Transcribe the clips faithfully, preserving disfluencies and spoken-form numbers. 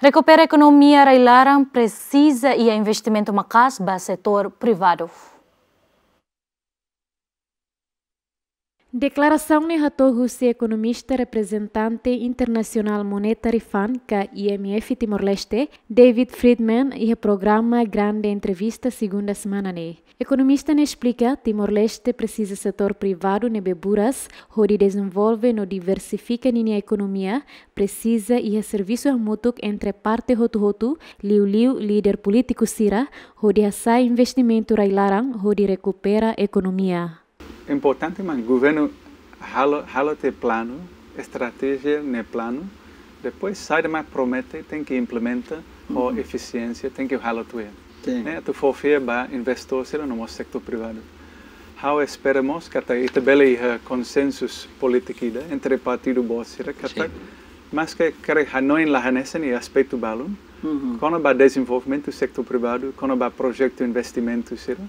Rekupera ekonomia rai-laran presiza iha investimentu maka'as ba setór privadu. Deklarasaun ne'e hato'o husi ekonomista reprezentante International Monetary Fund ka I M F Timor-Leste, David Friedman, iha programa Grande Entrevista segunda semana ne'e. Ekonomista ne'e esplika, Timor-Leste presiza setór privadu ne'ebé buras hodi dezenvolve no diversifika ninia ekonomia, presiza iha servisu hamutuk entre parte hotu-hotu, liuliu líder polítiku sira, hodi hasa'e investimentu rai-laran hodi rekupera ekonomia. Importante mak governu halo, halo tiha planu, estratéjia no planu, depois saida mak promete tenke implementa ho efisiénsia, tenke halo tuir. Sin. Ne'e atu fó fiar ba investór sira no mós setór privadu. Ha'u espera mós katak ita bele iha konsensu polítiku ida entre partidu boot sira katak, sin, maske karik hanoin la hanesan iha aspetu balun, kona-ba dezenvolvimentu setór privadu, kona-ba projetu investimentu sira,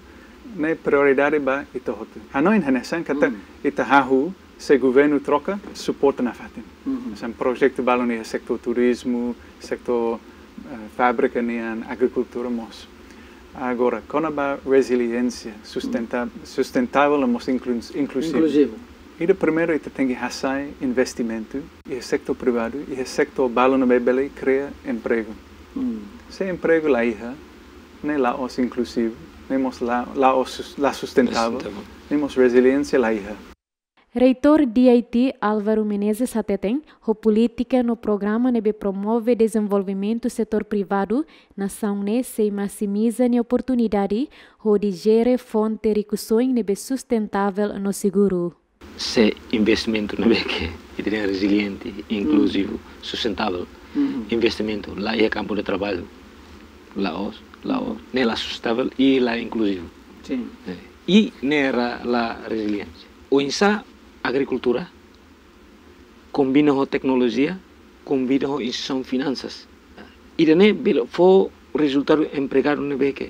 ne'e prioridade ba ita hotu. Hanoin hanesan katak ita hahú se governu troka suporta nafatin. Hanesan projetu balun iha setór turizmu, setór, eh, fábrika nian, agrikultura mós. Agora, kona-ba reziliénsia, sustenta-, sustentável no mós inklus-, inkluzivu. Inkluzivu. Ida primeiru ita tenke hasa'e investimentu iha setór privadu, iha setór balun ne'ebé bele kria empregu. Se empregu la iha, ne'e la'ós inkluzivu, ne'e mós la, la'ós sus-, la sustentável, ne'e mós reziliénsia la iha. Reitór D I T Álvaro Menezes hateten, ho polítika no programa ne'ebé promove dezenvolvimentu setór privadu, nasaun ne'e sei maksimiza nia oportunidade hodi jere fonte rikusoin ne'ebé sustentável no seguru. Se investimentu ne'ebé ke ita dehan reziliente, inkluzivu, sustentável. Investimentu la iha kampu de traballu, la'ós, la'ós, ne'e la sustentável i la inkluzivu. Sin. Eh, i ne'e la, la reziliente. Oinsá agrikultura kombina ho teknolojia, kombina ho instituisaun finansas. Ida-ne'e bele fó rezultadu empregadu ne'ebé ke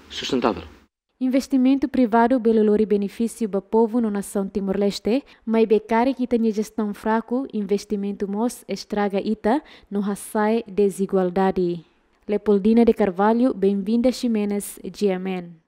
sustentável. Investimentu privadu bele lori benefísiu ba povu no nasaun Timor-Leste, maibé karik ita-nia jestaun fraku, investimentu mós estraga ita no hasa'e dezigualdade. Leopoldina de Carvalho, Benvinda Ximenes, G M N.